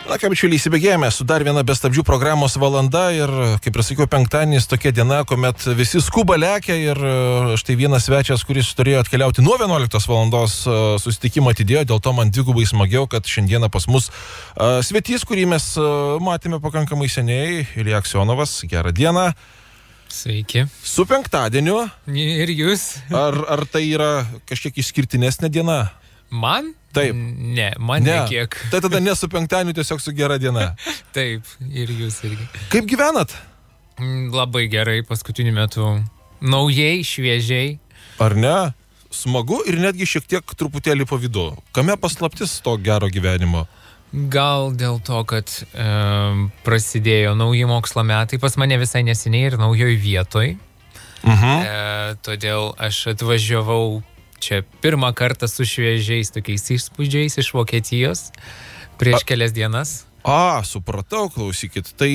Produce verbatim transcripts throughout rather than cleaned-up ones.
Na, ką bičiuliai, įsibėgėjame su dar viena be stabdžių programos valanda ir, kaip ir sakiau, penktadienis tokia diena, kuomet visi skuba lekia ir štai vienas svečias, kuris turėjo atkeliauti nuo vienuoliktos valandos susitikimą atidėjo, dėl to man dvigubai smagiau, kad šiandieną pas mus uh, svetys, kurį mes uh, matėme pakankamai seniai, Ilja Aksionovas. Gerą dieną. Sveiki. Su penktadieniu. Ir jūs. Ar, ar tai yra kažkiek išskirtinesnė diena? Man? Taip. Ne, man ne. Nekiek. Tai tada ne su penktadieniu, tiesiog su gera diena. Taip, ir jūs irgi. Kaip gyvenat? Labai gerai, paskutiniu metu. Naujai, šviežiai. Ar ne? Smagu ir netgi šiek tiek truputėlį pavydu. Kame paslaptis to gero gyvenimo? Gal dėl to, kad e, prasidėjo nauji mokslo metai pas mane visai neseniai ir naujoj vietoj. Mhm. E, todėl aš atvažiavau čia pirmą kartą su šviežiais tokiais įspūdžiais iš Vokietijos prieš A... kelias dienas. A, supratau, klausykit. Tai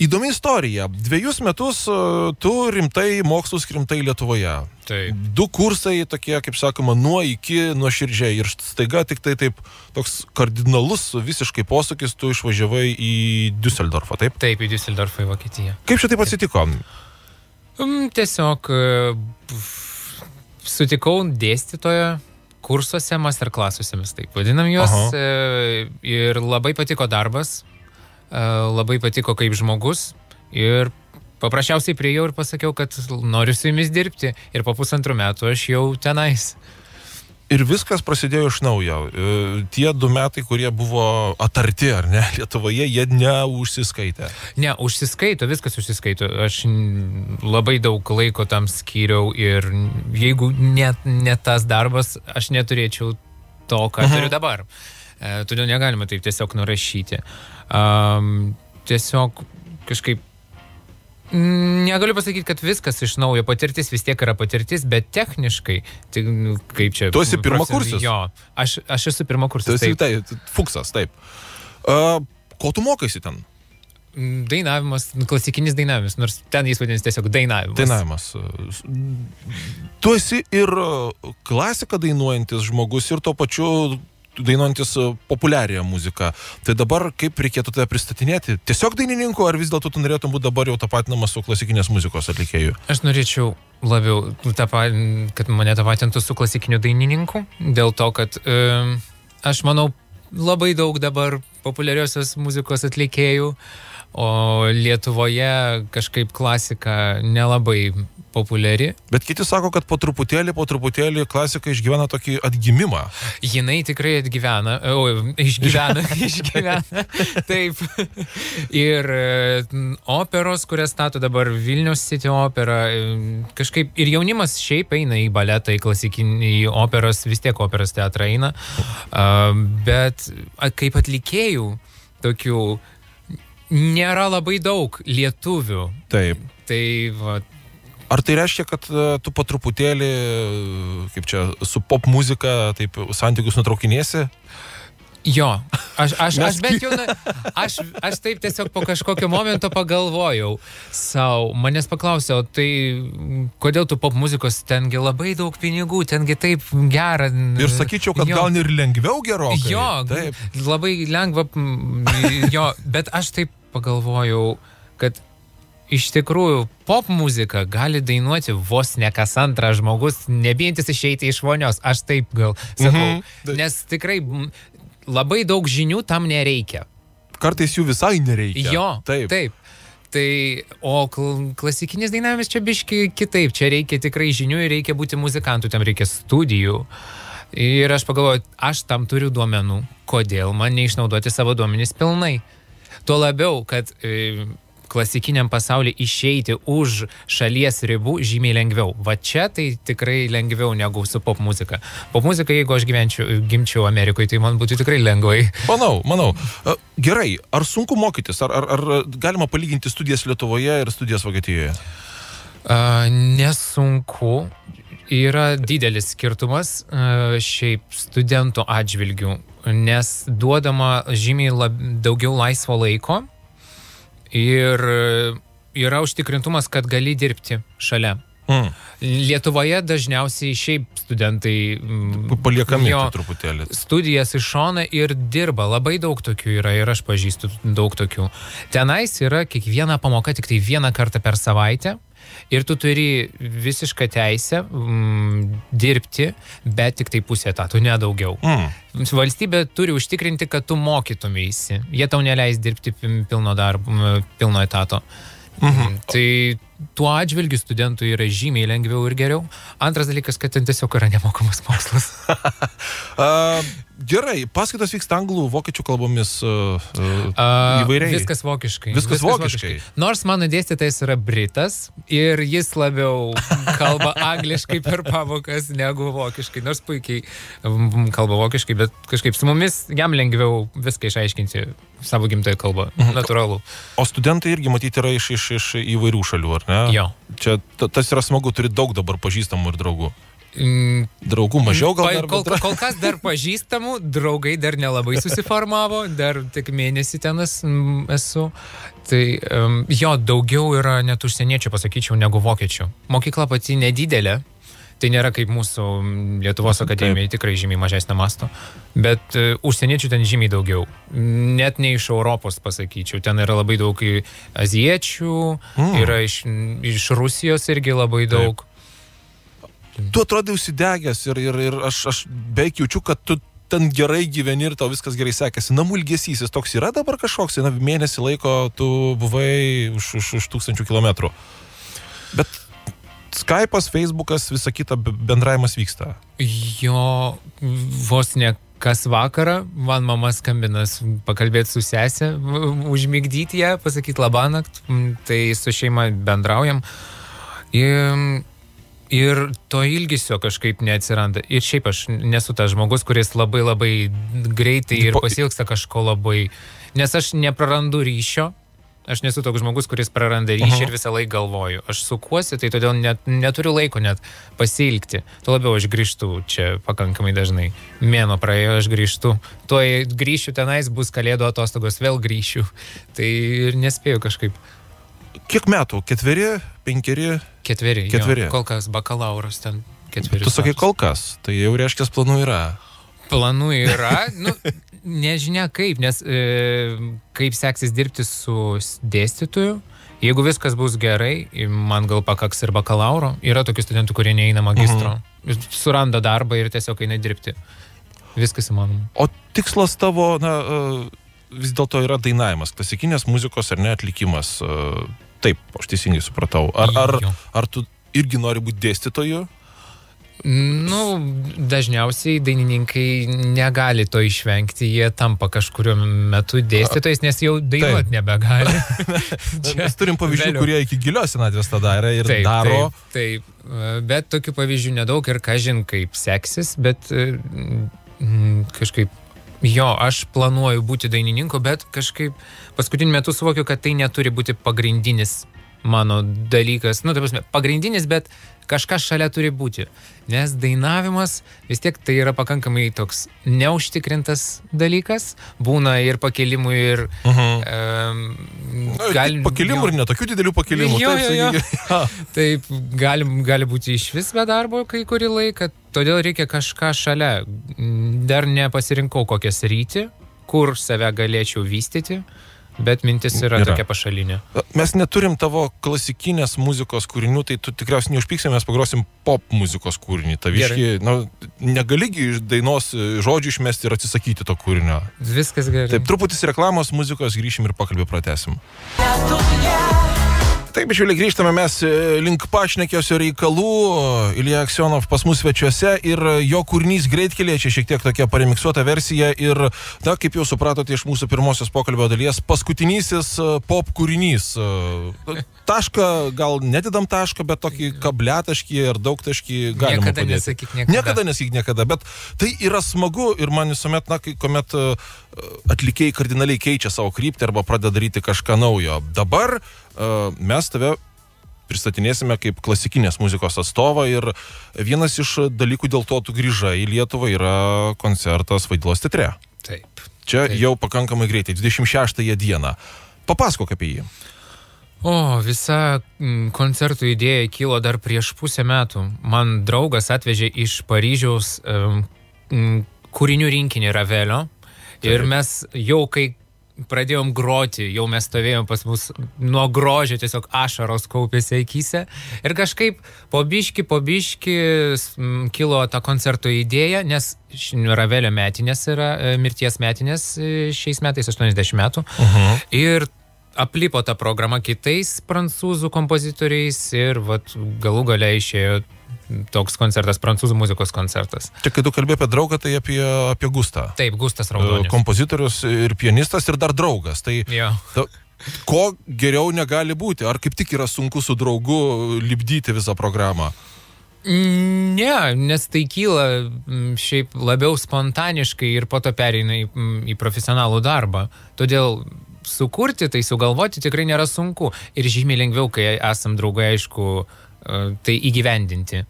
įdomi istorija. Dviejus metus uh, tu rimtai mokslus rimtai Lietuvoje. Taip. Du kursai tokie, kaip sakoma, nuo iki, nuo širdžiai. Ir staiga tik tai taip toks kardinalus visiškai posūkis, tu išvažiavai į Düsseldorfą, taip? Taip, į Düsseldorfą, į Vokietiją. Kaip čia taip atsitiko? Um, tiesiog uh, sutikau dėstytoją kursuose, masterklasuose, mes taip vadinam juos. E, ir labai patiko darbas, e, labai patiko kaip žmogus. Ir paprasčiausiai priėjau ir pasakiau, kad noriu su jumis dirbti. Ir po pusantrų metų aš jau tenais. Ir viskas prasidėjo iš naujo. E, tie du metai, kurie buvo atarti, ar ne, Lietuvoje, jie neužsiskaitė. Ne, užsiskaito, viskas užsiskaito. Aš labai daug laiko tam skyriau ir jeigu net ne tas darbas, aš neturėčiau to, ką mhm. turiu dabar. E, todėl negalima taip tiesiog nurašyti. Um, tiesiog kažkaip negaliu pasakyti, kad viskas iš naujo, patirtis vis tiek yra patirtis, bet techniškai, tai, kaip čia... Tu esi pirmakursis? Jo, aš, aš esu pirmakursis. Tu esi tai, fuksas, taip. Uh, ko tu mokaisi ten? Dainavimas, klasikinis dainavimas, nors ten jis vadinasi tiesiog dainavimas. Dainavimas. Tu esi ir klasiką dainuojantis žmogus ir tuo pačiu dainuojantis populiarią muziką. Tai dabar kaip reikėtų tave pristatinėti? Tiesiog dainininku, ar vis dėlto tu norėtum būti dabar jau tapatinamas su klasikinės muzikos atlikėju? Aš norėčiau labiau, tapa, kad mane tapatintų su klasikiniu dainininku, dėl to, kad e, aš manau labai daug dabar populiariosios muzikos atlikėjų, o Lietuvoje kažkaip klasika nelabai populiari. Bet kiti sako, kad po truputėlį, po truputėlį klasika išgyvena tokį atgimimą. Jinai tikrai atgyvena, o, išgyvena, išgyvena, taip. Ir operos, kurias stato dabar Vilnius City opera, kažkaip ir jaunimas šiaip eina į baletą, į klasikinį, į operos, vis tiek operos teatrą eina. Bet kaip atlikėjų, tokių nėra labai daug lietuvių. Taip. Tai va. Ar tai reiškia, kad uh, tu po truputėlį, kaip čia, su pop muzika taip santykius nutraukinėsi? Jo, aš, aš, aš bent jau, aš, aš taip tiesiog po kažkokio momento pagalvojau sau, manęs paklausiau, tai kodėl tu pop muzikos, tengi labai daug pinigų, tengi taip gera. Ir sakyčiau, kad jo. Gal ir lengviau gerokai. Jo, taip. Labai lengva, jo, bet aš taip pagalvojau, kad iš tikrųjų, pop muzika gali dainuoti vos ne kas antras žmogus, nebijantis išeiti iš vonios. Aš taip gal sakau. Mhm. Nes tikrai labai daug žinių tam nereikia. Kartais jų visai nereikia. Jo, taip. taip. Tai, o klasikinis dainavimas čia biški kitaip. Čia reikia tikrai žinių ir reikia būti muzikantų, tam reikia studijų. Ir aš pagalvoju, aš tam turiu duomenų. Kodėl man neišnaudoti savo duomenys pilnai? Tuo labiau, kad e, klasikiniam pasaulyje išeiti už šalies ribų žymiai lengviau. Va čia tai tikrai lengviau negu su pop muzika. Pop muzika, jeigu aš gyvenčiau, gimčiau Amerikoje, tai man būtų tikrai lengvai. Manau, manau. Gerai, ar sunku mokytis? Ar, ar, ar galima palyginti studijas Lietuvoje ir studijas Vokietijoje? Uh, nesunku. Yra didelis skirtumas uh, šiaip studentų atžvilgių, nes duodama žymiai lab, daugiau laisvo laiko. Ir yra užtikrintumas, kad gali dirbti šalia. Mm. Lietuvoje dažniausiai šiaip studentai paliekami truputėlį. Studijas iš šoną ir dirba. Labai daug tokių yra ir aš pažįstu daug tokių. Tenais yra kiekviena pamoka tik tai vieną kartą per savaitę. Ir tu turi visišką teisę mm, dirbti, bet tik tai pusę etatų, nedaugiau. Mm. Valstybė turi užtikrinti, kad tu mokytumėsi. Jie tau neleis dirbti pilno darbo, pilno etato. Mhm. Tai tuo atžvilgiu studentui yra žymiai lengviau ir geriau. Antras dalykas, kad ten tiesiog yra nemokamas mokslas. uh, gerai, paskaitos vyksta anglų, vokiečių kalbomis uh, uh, įvairiai. Viskas vokiškai. Viskas, Viskas vokiškai. vokiškai. Nors mano dėstytojas yra britas ir jis labiau kalba angliškai per pamokas negu vokiškai. Nors puikiai kalba vokiškai, bet kažkaip su mumis jam lengviau viską išaiškinti savo gimtąją kalbą. Mhm. Natūralu. O studentai irgi matyti yra iš, iš, iš įvairių šalių, ar ne? Jo. Čia tas yra smagu, turi daug dabar pažįstamų ir draugų. Mm. Draugų mažiau gal dar? Kol, kol kas dar pažįstamų, draugai dar nelabai susiformavo, dar tik mėnesį tenas esu. Tai um, jo, daugiau yra net užsieniečių, pasakyčiau, negu vokiečių. Mokykla pati nedidelė. Tai nėra kaip mūsų Lietuvos akademija, tikrai žymiai mažesnio masto, bet uh, užsieniečių ten žymiai daugiau. Net ne iš Europos, pasakyčiau. Ten yra labai daug azijiečių, mm. yra iš, iš Rusijos irgi labai daug. Taip. Tu atrodai užsidegęs ir, ir, ir aš, aš beveik jaučiu, kad tu ten gerai gyveni ir tau viskas gerai sekėsi. Namų ilgesys, jis toks yra dabar kažkoks, na, mėnesį laiko tu buvai už, už, už tūkstančių kilometrų. Bet Skype'as, Facebook'as, visa kita bendravimas vyksta. Jo, vos ne kas vakarą, man mama skambinas pakalbėti su sesė, užmigdyti ją, pasakyti labanakt, tai su šeima bendraujam. Ir, ir to ilgesio kažkaip neatsiranda. Ir šiaip aš nesu tas žmogus, kuris labai labai greitai ir pasiilgsta kažko labai, nes aš neprarandu ryšio. Aš nesu toks žmogus, kuris praranda ryšį uh-huh. ir visą laiką galvoju. Aš sukuosi, tai todėl net, neturiu laiko net pasilgti. Tuo labiau aš grįžtu čia pakankamai dažnai. Mėnuo praėjo, aš grįžtu. Tuoj grįšiu tenais, bus kalėdų atostogos, vėl grįšiu. Tai ir nespėjau kažkaip. Kiek metų? Ketveri? Penkeri? Ketveri. Ketveri. Jo, kol kas bakalauras ten ketveri. Tu sakai kol kas, tai jau reiškia planų yra. Planų yra, nu, nežinia kaip, nes e, kaip seksis dirbti su dėstytoju, jeigu viskas bus gerai, man gal pakaks ir bakalauro, yra tokių studentų, kurie neina magistro, mhm. suranda darbą ir tiesiog eina dirbti. Viskas įmanoma. O tikslas tavo, na, vis dėlto yra dainavimas, klasikinės muzikos ar ne atlikimas, taip, aš teisingai supratau. Ar, ar, ar tu irgi nori būti dėstytoju? Nu, dažniausiai dainininkai negali to išvengti, jie tampa kažkuriuo metu dėstytojais, nes jau dainuot nebegali. Mes turim pavyzdžių, vėliau. Kurie iki gilios senatvės tą darė ir taip, daro. Taip, taip, bet tokių pavyzdžių nedaug ir kažin kaip seksis, bet mm, kažkaip, jo, aš planuoju būti dainininku, bet kažkaip paskutiniu metu suvokiu, kad tai neturi būti pagrindinis mano dalykas, nu, tai prasme, pagrindinis, bet kažkas šalia turi būti, nes dainavimas vis tiek tai yra pakankamai toks neužtikrintas dalykas, būna ir pakelimų ir uh-huh. um, gal, pakelimų jo, ir netokių didelių pakelimų. Jo, taip, jo, jo. Taip, gali, gali būti iš vis be darbo kai kurį laiką, todėl reikia kažką šalia. Dar nepasirinkau kokią sritį, kur save galėčiau vystyti. Bet mintis yra, yra tokia pašalinė. Mes neturim tavo klasikinės muzikos kūrinių, tai tu tikriausiai neužpyksime, mes pagrosim pop muzikos kūrinį. Taviški, na, negaligi iš dainos žodžių išmesti ir atsisakyti to kūrinio. Viskas gerai. Taip, truputis reklamos muzikos, grįšim ir pokalbį pratęsim. Taip, bičiuliai, grįžtame mes link pašnekėsio reikalų. Ilja Aksionov pas mus svečiuose ir jo kūrinys Greitkelyje, čia šiek tiek tokia paremiksuota versija ir, na, kaip jau supratote iš mūsų pirmosios pokalbio dalies, paskutinysis pop kūrinys. Tašką, gal nededam tašką, bet tokį kabliataškį ir daugtaškį galima niekada padėti. Nesakyk niekada. Niekada nesakyk niekada, bet tai yra smagu ir man visuomet, na, kuomet atlikėjai kardinaliai keičia savo kryptį arba pradeda daryti kažką naujo. Dabar uh, mes tave pristatinėsime kaip klasikinės muzikos atstovą ir vienas iš dalykų, dėl to tu grįžai į Lietuvą, yra koncertas Vaidilos teatre. Taip. Čia taip. Jau pakankamai greitai, dvidešimt šeštąją dieną. Papasakok apie jį. O, visa koncertų idėja kilo dar prieš pusę metų. Man draugas atvežė iš Paryžiaus um, kūrinių rinkinį Ravelio. Ir mes jau kai pradėjom groti, jau mes stovėjom pas mus nuo grožio, tiesiog ašaros kaupėsi akyse. Ir kažkaip po biški, po biški kilo ta koncerto idėja, nes Ravelio metinės yra, mirties metinės šiais metais, aštuoniasdešimt metų. Uh-huh. Ir aplipo ta programa kitais prancūzų kompozitoriais ir vat, galų gale išėjo toks koncertas, prancūzų muzikos koncertas. Čia, kai tu kalbėjai apie draugą, tai apie, apie Gustą. Taip, Gustas Raudonis. Kompozitorius ir pianistas ir dar draugas. Tai ta, ko geriau negali būti? Ar kaip tik yra sunku su draugu lipdyti visą programą? Ne, nes tai kyla šiaip labiau spontaniškai ir po to pereina į, į profesionalų darbą. Todėl sukurti, tai sugalvoti tikrai nėra sunku. Ir žymiai lengviau, kai esam draugai, aišku, tai įgyvendinti.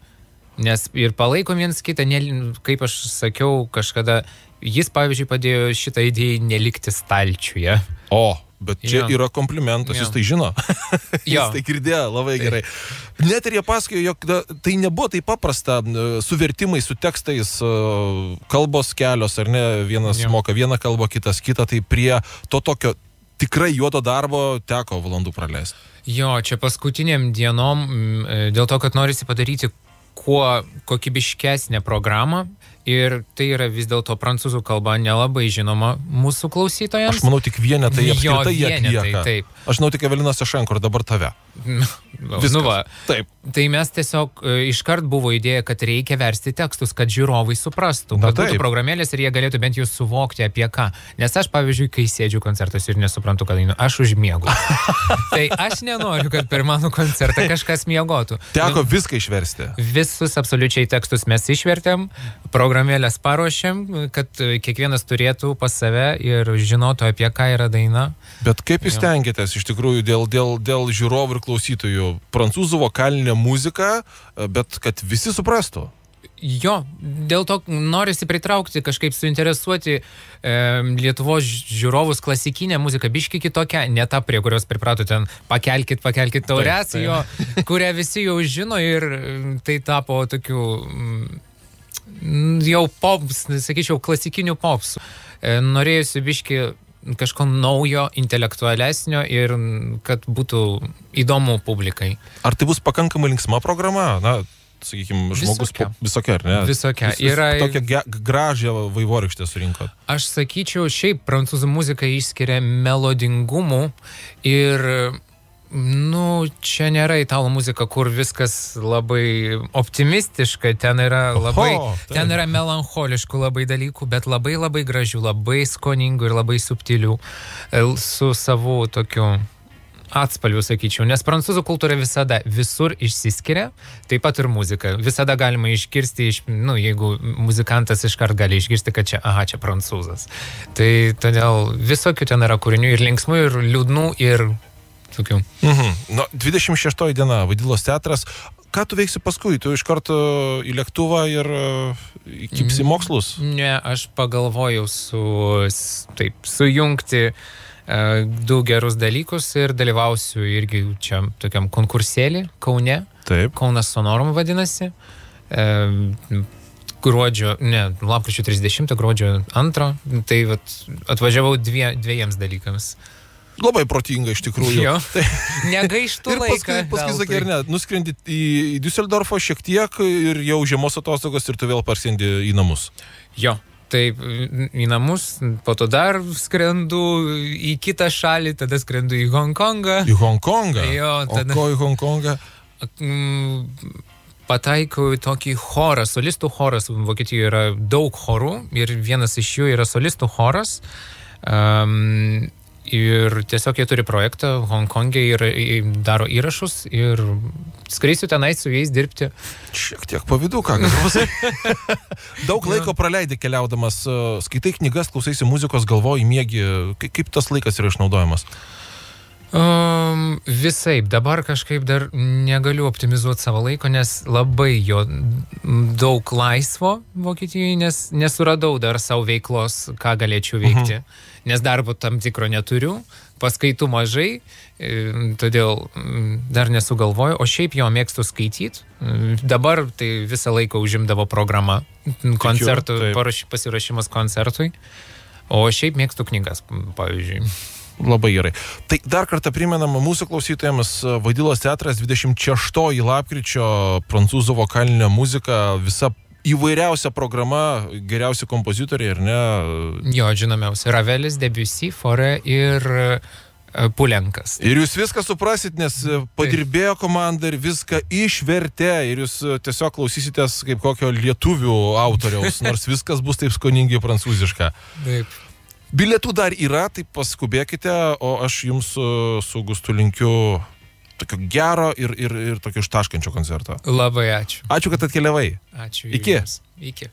Nes ir palaikom viens kitą, ne, kaip aš sakiau kažkada, jis, pavyzdžiui, padėjo šitą idėją nelikti stalčiuje. O, bet čia jo. Yra komplimentas, jo. Jis tai žino. Jis Jo. tai girdėjo labai tai. Gerai. Net ir jie pasakojo, jog tai nebuvo taip paprasta su vertimais, su tekstais, kalbos kelios, ar ne, vienas jo. Moka vieną kalbą, kitas kitą, tai prie to tokio tikrai juodo darbo teko valandų praleisti. Jo, čia paskutiniam dienom, dėl to, kad norisi padaryti kuo kokybiškesnę programą ir tai yra vis dėlto prancūzų kalba nelabai žinoma mūsų klausytojams. Aš manau, tik vienetai apskritai jie atlieka. Taip. Aš žinau tik Evelina Sašenko ir dabar tave. Nu va, taip. Tai mes tiesiog iškart buvo idėja, kad reikia versti tekstus, kad žiūrovai suprastų, kad būtų programėlės ir jie galėtų bent jau suvokti apie ką. Nes aš, pavyzdžiui, kai sėdžiu koncertas ir nesuprantu, kad einu, aš užmiegu. Tai aš nenoriu, kad per mano koncertą kažkas miegotų. Teko nu, viską išversti. Visus absoliučiai tekstus mes išvertėm, programėlės paruošėm, kad kiekvienas turėtų pas save ir žinotų, apie ką yra daina. Bet kaip jūs stengiatės iš tikrųjų dėl, dėl, dėl žiūrovų ir klausytojų? Prancūzų vokalinė muzika, bet kad visi suprastų. Jo, dėl to norisi pritraukti, kažkaip suinteresuoti e, Lietuvos žiūrovus klasikinę muziką, biški kitokią, ne ta, prie kurios priprato ten pakelkit, pakelkit taurės, jo, kurią visi jau žino ir tai tapo tokiu jau pops, sakyčiau, klasikinių popsų. E, norėjusi biški kažko naujo, intelektualesnio ir kad būtų įdomu publikai. Ar tai bus pakankamai linksma programa? Na, sakykime, žmogus visokia, po, visokia ar ne? Visokia. Vis, vis, yra tokią gražią vaivorykštę surinkot. Aš sakyčiau, šiaip prancūzų muzika išskiria melodingumų ir nu, čia nėra italų muzika, kur viskas labai optimistiška, ten yra labai, Oho, ten yra melancholiškų labai dalykų, bet labai labai gražių, labai skoningų ir labai subtilių, su savu tokiu atspalviu, sakyčiau, nes prancūzų kultūra visada visur išsiskiria, taip pat ir muzika. Visada galima išgirsti, iš, nu, jeigu muzikantas iškart gali išgirsti, kad čia, aha, čia prancūzas. Tai todėl visokių ten yra kūrinių ir linksmų, ir liūdnų, ir tokių. Mhm. Nu, dvidešimt šeštoji diena, Vaidilos teatras. Ką tu veiksi paskui? Tu iš karto į lėktuvą ir kipsi mokslus? Ne, aš pagalvojau su, taip, sujungti uh, du gerus dalykus ir dalyvausiu irgi čia tokiam konkursėlį Kaune. Taip. Kaunas Sonorum vadinasi. Uh, gruodžio, ne, lapkričio trisdešimtą, gruodžio antrą. Tai vat, atvažiavau dvie, dviejiems dalykams. Labai protinga iš tikrųjų. Jo. Negaištų ir laiką. Ir paskui, sakai, ar ne, nuskrendit į, į Düsseldorfą šiek tiek ir jau žiemos atostogos ir tu vėl parsiendi į namus. Jo, taip, į namus, po to dar skrendu į kitą šalį, tada skrendu į Hongkongą. Į Hongkongą? Jo, tada... O ko į Hongkongą? Pataikau į tokį chorą, solistų choras. Vokietijoje yra daug chorų ir vienas iš jų yra solistų choras. Um, Ir tiesiog jie turi projektą Hongkonge ir daro įrašus ir skreisiu tenai su jais dirbti. Šiek tiek pavydu, ką galiu. Daug laiko praleidi keliaudamas, skaitai knygas, klausaisi muzikos, galvoji, miegi. Kaip tas laikas yra išnaudojamas? Um, visaip, dabar kažkaip dar negaliu optimizuoti savo laiko, nes labai jo daug laisvo Vokietijoje, nes nesuradau dar savo veiklos, ką galėčiau veikti, uh-huh. nes darbo tam tikro neturiu, paskaitų mažai, todėl dar nesugalvoju, o šiaip jo mėgstu skaityti. Dabar tai visą laiką užimdavo programa, koncertų, pasirašymas koncertui, o šiaip mėgstu knygas, pavyzdžiui. Labai gerai. Tai dar kartą primenama mūsų klausytojams, Vaidilos teatras dvidešimt šeštoji lapkričio, prancūzų vokalinė muzika, visa įvairiausia programa, geriausi kompozitoriai, ar ne? Jo, žinomiausi, Ravelis, Debussy, Fauré ir Pulenkas. Ir jūs viską suprasit, nes padirbėjo komanda ir viską išvertė, ir jūs tiesiog klausysitės kaip kokio lietuvių autoriaus, nors viskas bus taip skoningai prancūziška. Taip. Bilietų dar yra, tai paskubėkite, o aš jums su, su Gustu linkiu tokio gero ir, ir, ir tokio ištaškančio koncerto. Labai ačiū. Ačiū, kad atkeliavai. Ačiū. Iki. Iki.